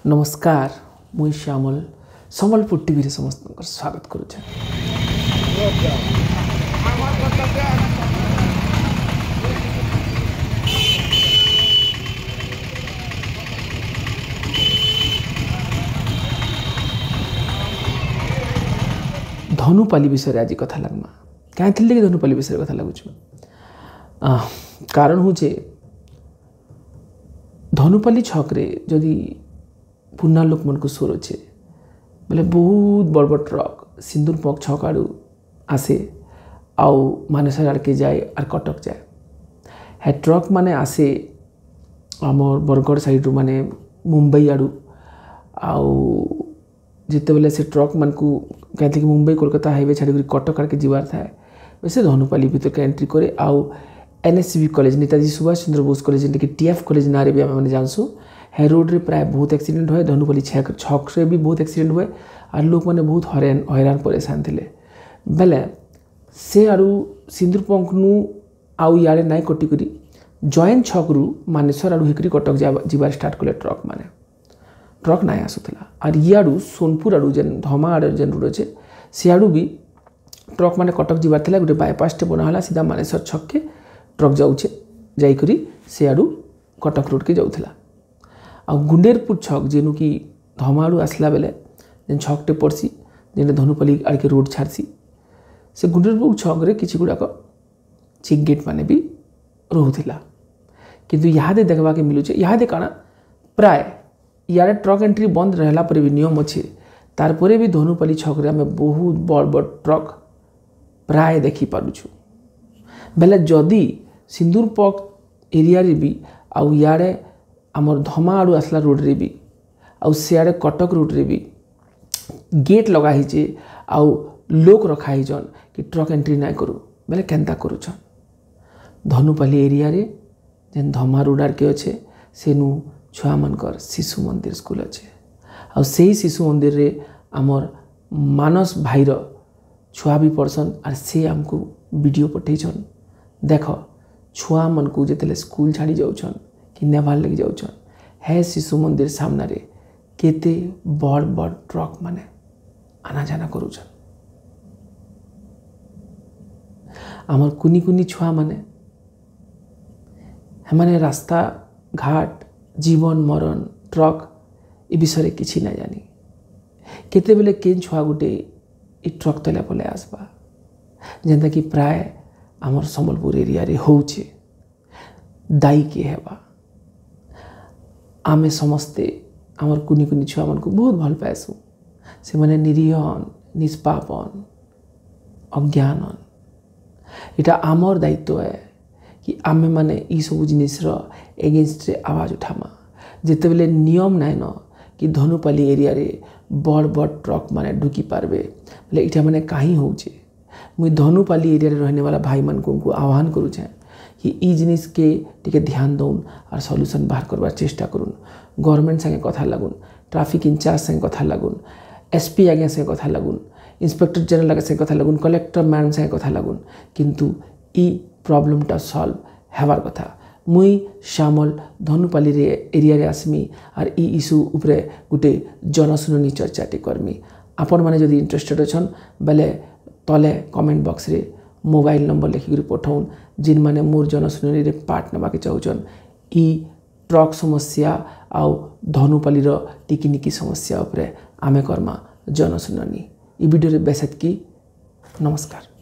ନମସ୍କାର, ମୁଇଁ ଶ୍ୟାମଲ, ସମ୍ବଲପୁର ଟିଭିରେ ସମସ୍ତଙ୍କର ସ୍ୱାଗତ କରୁଛେ। ଧନୁପାଲି ବିଷୟରେ ଆଜି କଥା ଲାଗ୍ମା। କାହିଁ ଥିଲେ କି ଧନୁପାଲି ବିଷୟରେ କଥା ଲାଗୁଛୁ? କାରଣ ହଉଛେ ଧନୁପାଲି ଛକରେ ଯଦି ପୁରୁଣା ଲୋକମାନଙ୍କୁ ସୋର ଅଛେ ବୋଲେ ବହୁତ ବଡ଼ ବଡ଼ ଟ୍ରକ୍ ସିନ୍ଦୁର ପଙ୍କ ଛକ ଆଡ଼ୁ ଆସେ ଆଉ ମାନେସର ଆଡ଼କେ ଯାଏ ଆର୍ କଟକ ଯାଏ। ହେ ଟ୍ରକ୍ ମାନେ ଆସେ ଆମର୍ ବରଗଡ଼ ସାଇଡ଼୍ରୁ, ମାନେ ମୁମ୍ବାଇ ଆଡ଼ୁ। ଆଉ ଯେତେବେଲେ ସେ ଟ୍ରକ୍ ମାନଙ୍କୁ କାହିଁକି ମୁମ୍ବାଇ କୋଲକାତା ହାଇୱେ ଛାଡ଼ିକରି କଟକ ଆଡ଼କେ ଯିବାର ଥାଏ, ସେ ଧନୁପାଲି ଭିତରକେ ଏଣ୍ଟ୍ରି କରେ। ଆଉ NSCB college, Netaji Subhash Chandra Bose college, ଯେନ୍ଟାକି TF college ନାଁରେ ବି ଆମେ ଜାଣସୁଁ, ହେ ରୋଡ଼ରେ ପ୍ରାୟ ବହୁତ ଆକ୍ସିଡେଣ୍ଟ ହୁଏ। ଧନୁପାଲି ଛକରେ ବି ବହୁତ ଆକ୍ସିଡେଣ୍ଟ ହୁଏ ଆର୍ ଲୋକମାନେ ବହୁତ ହଇରାଣ ପରେଶାନ ଥିଲେ। ବେଲେ ସେ ଆଡ଼ୁ ସିନ୍ଦୁରପଙ୍କନୁ ଆଉ ଇଆଡ଼େ ନାଇଁ କଟିକରି ଜଏଣ୍ଟ ଛକରୁ ମାନେଶ୍ୱର ଆଡ଼ୁ ହେଇକରି କଟକ ଯିବାର ଷ୍ଟାର୍ଟ କଲେ ଟ୍ରକ୍ ମାନେ। ଟ୍ରକ୍ ନାଇଁ ଆସୁଥିଲା। ଆର୍ ଇଆଡ଼ୁ ସୋନପୁର ଆଡ଼ୁ ଯେନ୍ ଧମା ଆଡ଼େ ଯେନ୍ ରୋଡ଼ ଅଛେ ସିଆଡ଼ୁ ବି ଟ୍ରକ୍ ମାନେ କଟକ ଯିବାର ଥିଲା। ଗୋଟେ ବାଇପାସଟେ ବନା ହେଲା, ସିଧା ମାନେଶ୍ୱର ଛକକେ ଟ୍ରକ୍ ଯାଉଛେ, ଯାଇକରି ସିଆଡ଼ୁ କଟକ ରୋଡ଼କେ ଯାଉଥିଲା। ଆଉ ଗୁଣ୍ଡେରପୁର ଛକ ଯେନୁ କି ଧମା ଆଡ଼ୁ ଆସିଲା ବେଲେ ଯେନ୍ ଛକଟେ ପଡ଼୍ସି, ଯେନ୍ଟା ଧନୁପାଲି ଆଡ଼କେ ରୋଡ଼ ଛାଡ଼୍ସି, ସେ ଗୁଣ୍ଡେରପୁର ଛକରେ କିଛି ଗୁଡ଼ାକ ଚେକ୍ ଗେଟ୍ ମାନେ ବି ରହୁଥିଲା। କିନ୍ତୁ ଇହାଦେ ଦେଖ୍ବାକେ ମିଲୁଛେ, ଇହାଦେ କାଣା ପ୍ରାୟ ଇଆଡ଼େ ଟ୍ରକ୍ ଏଣ୍ଟ୍ରି ବନ୍ଦ ରହିଲା ପରେ ବି ନିୟମ ଅଛେ, ତାରପରେ ବି ଧନୁପାଲି ଛକରେ ଆମେ ବହୁତ ବଡ଼ ବଡ଼ ଟ୍ରକ୍ ପ୍ରାୟ ଦେଖିପାରୁଛୁ। ବେଲେ ଯଦି ସିନ୍ଦୁରପକ ଏରିଆରେ ବି ଆଉ ଇଆଡ଼େ ଆମର୍ ଧମା ଆଡ଼ୁ ଆସିଲା ରୋଡ଼ରେ ବି ଆଉ ସିଆଡ଼େ କଟକ ରୋଡ଼ରେ ବି ଗେଟ୍ ଲଗା ହେଇଛେ ଆଉ ଲୋକ୍ ରଖା ହେଇଛନ୍ କି ଟ୍ରକ୍ ଏଣ୍ଟ୍ରି ନାଇଁ କରୁ, ବେଲେ କେନ୍ତା କରୁଛନ୍? ଧନୁପାଲି ଏରିଆରେ ଯେନ୍ ଧମା ରୋଡ଼ ଆଡ଼କେ ଅଛେ ସେନୁ ଛୁଆମାନଙ୍କର ଶିଶୁ ମନ୍ଦିର ସ୍କୁଲ ଅଛେ। ଆଉ ସେଇ ଶିଶୁ ମନ୍ଦିରରେ ଆମର୍ ମାନସ ଭାଇର ଛୁଆ ବି ପଢ଼ସନ୍ ଆର୍ ସେ ଆମକୁ ଭିଡ଼ିଓ ପଠେଇଛନ୍। ଦେଖ, ଛୁଆମାନଙ୍କୁ ଯେତେବେଲେ ସ୍କୁଲ ଛାଡ଼ି ଯାଉଛନ୍ କି ନେବାର୍ ଲାଗି ଯାଉଛନ୍, ହେ ଶିଶୁ ମନ୍ଦିର ସାମ୍ନାରେ କେତେ ବଡ଼ ବଡ଼ ଟ୍ରକ୍ ମାନେ ଆନାଜାନା କରୁଛନ୍। ଆମର୍ କୁନି କୁନି ଛୁଆମାନେ ସେମାନେ ରାସ୍ତା ଘାଟ ଜୀବନ ମରଣ ଟ୍ରକ୍ ଏ ବିଷୟରେ କିଛି ନାଇଁ ଜାନି। କେତେବେଲେ କେନ୍ ଛୁଆ ଗୋଟେ ଏ ଟ୍ରକ୍ ତଲେ ପଲେଇ ଆସ୍ବା, ଯେନ୍ଟାକି ପ୍ରାୟ ଆମର୍ ସମ୍ବଲପୁର ଏରିଆରେ ହଉଛେ। ଦାୟୀ କିଏ ହେବା? ଆମେ ସମସ୍ତେ ଆମର୍ କୁନି କୁନି ଛୁଆମାନଙ୍କୁ ବହୁତ ଭଲ ପାଏସୁଁ। ସେମାନେ ନିରୀହନ୍, ନିଷ୍ପାପନ୍, ଅଜ୍ଞାନନ୍। ଏଇଟା ଆମର୍ ଦାୟିତ୍ୱ ଏ କି ଆମେମାନେ ଏଇସବୁ ଜିନିଷ୍ର ଏଗେନଷ୍ଟରେ ଆୱାଜ ଉଠାମା। ଯେତେବେଲେ ନିୟମ ନାଇଁନ କି ଧନୁପାଲି ଏରିଆରେ ବଡ଼ ବଡ଼ ଟ୍ରକ୍ ମାନେ ଢୁକି ପାରବେ, ବୋଲେ ଏଇଟା ମାନେ କାହିଁ ହଉଛେ? ମୁଇଁ ଧନୁପାଲି ଏରିଆରେ ରହିନେବାଲା ଭାଇମାନଙ୍କୁ ଆହ୍ୱାନ କରୁଛେଁ କି ଇ ଜିନିଷ୍କେ ଟିକେ ଧ୍ୟାନ ଦଉନ୍ ଆର୍ ସଲ୍ୟୁସନ୍ ବାହାର କରବାର୍ ଚେଷ୍ଟା କରୁନ୍। ଗଭର୍ଣ୍ଣମେଣ୍ଟ ସାଙ୍ଗେ କଥା ଲାଗୁନ୍, ଟ୍ରାଫିକ୍ ଇନଚାର୍ଜ ସାଙ୍ଗେ କଥା ଲାଗୁନ୍, SP ଆଜ୍ଞା ସାଙ୍ଗେ କଥା ଲାଗୁନ୍, ଇନ୍ସପେକ୍ଟର ଜେନେରାଲ ଆଜ୍ଞା ସାଙ୍ଗେ କଥା ଲାଗୁନ୍, କଲେକ୍ଟର ମ୍ୟାଡ଼ାମ୍ ସାଙ୍ଗେ କଥା ଲାଗୁନ୍। କିନ୍ତୁ ଇ ପ୍ରୋବ୍ଲେମଟା ସଲ୍ଭ ହେବାର୍ କଥା। ମୁଇଁ ଶ୍ୟାମଲ ଧନୁପାଲିରେ ଏରିଆରେ ଆସ୍ମି ଆର୍ ଇ ଇସ୍ୟୁ ଉପରେ ଗୋଟେ ଜନଶୁଣାନି ଚର୍ଚ୍ଚାଟେ କର୍ମି। ଆପଣମାନେ ଯଦି ଇଣ୍ଟରେଷ୍ଟେଡ଼ ଅଛନ୍ ବେଲେ ତଲେ କମେଣ୍ଟ ବକ୍ସରେ ମୋବାଇଲ ନମ୍ବର ଲେଖିକରି ପଠାଉନ୍, ଯେନ୍ମାନେ ମୋର୍ ଜନଶୁଣାନିରେ ପାର୍ଟ ନେବାକେ ଚାହୁଁଛନ୍। ଇ ଟ୍ରକ୍ ସମସ୍ୟା ଆଉ ଧନୁପାଲିର ଟିକିନିକି ସମସ୍ୟା ଉପରେ ଆମେ କର୍ମା ଜନଶୁଣାନି। ଇ ଭିଡ଼ିଓରେ ବେଶ ଏତ୍କି। ନମସ୍କାର।